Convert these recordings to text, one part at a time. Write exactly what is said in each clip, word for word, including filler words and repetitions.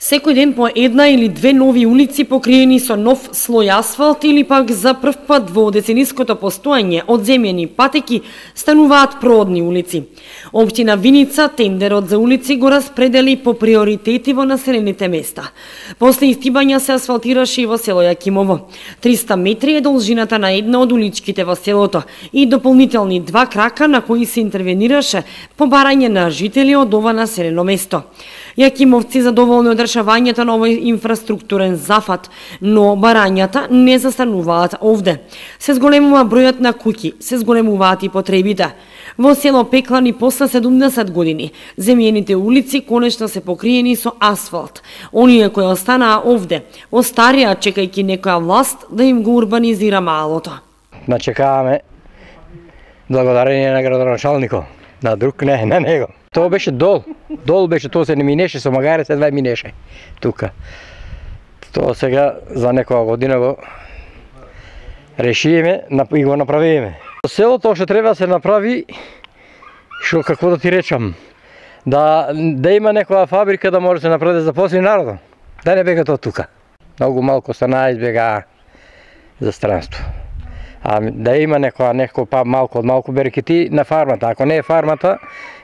Секој ден по една или две нови улици покриени со нов слој асфалт или пак за прв пат во децениското постоење од земјени патеки стануваат проодни улици. Општина Виница тендерот за улици го распредели по приоритети во населените места. После истибања се асфалтираше и во село Јакимово. триста метри е должината на една од уличките во селото и дополнителни два крака на кои се интервенираше по барање на жители од ова населено место. Јакимовци задоволни од решавањето на овој инфраструктурен зафат, но барањата не застануваат овде. Се зголемува бројот на куќи, се зголемуваат и потребите. Во село Пеклани после седумдесет години, земјените улици конечно се покриени со асфалт. Оние кои останаа овде, остарија чекајќи некоја власт да им го урбанизира малото. Начекаваме благодарение на градоначалникот, на друг не, на него. Тоа беше дол, дол беше, тоа се не минеше, со магаре се два минеше тука. Тоа сега за некоја година го решиме и го направиме. Селото што треба да се направи, што како да ти речам, да, да има некоја фабрика да може да се направи да запосли народот, да не бега тоа тука. Многу малку станаа избегаа за странство. А да има некоја некој па малку од малку берекети на фармата. Ако не е фармата,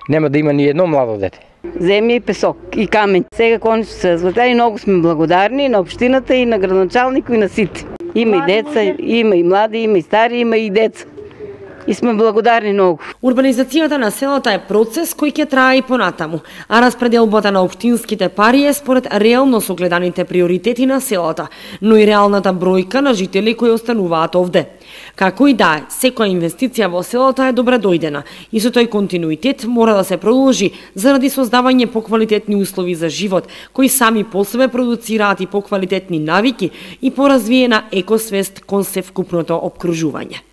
нема да има ни едно младо дете. Земја и песок и камен. Сега конечно се разлетели, многу сме благодарни на општината и на градоначалникот и на сите. Има и деца, има и млади, има и стари, има и деца. И сме благодарни многу. Урбанизацијата на селото е процес кој ќе трае и понатаму, а распределбата на општинските пари е според реално согледаните приоритети на селото, но и реалната бројка на жители кои остануваат овде. Како и да е, секоја инвестиција во селото е добре дојдена и со тој континуитет мора да се продолжи заради создавање поквалитетни услови за живот, кои сами по себе продуцираат и поквалитетни навики и поразвиена екосвест кон севкупното опкружување.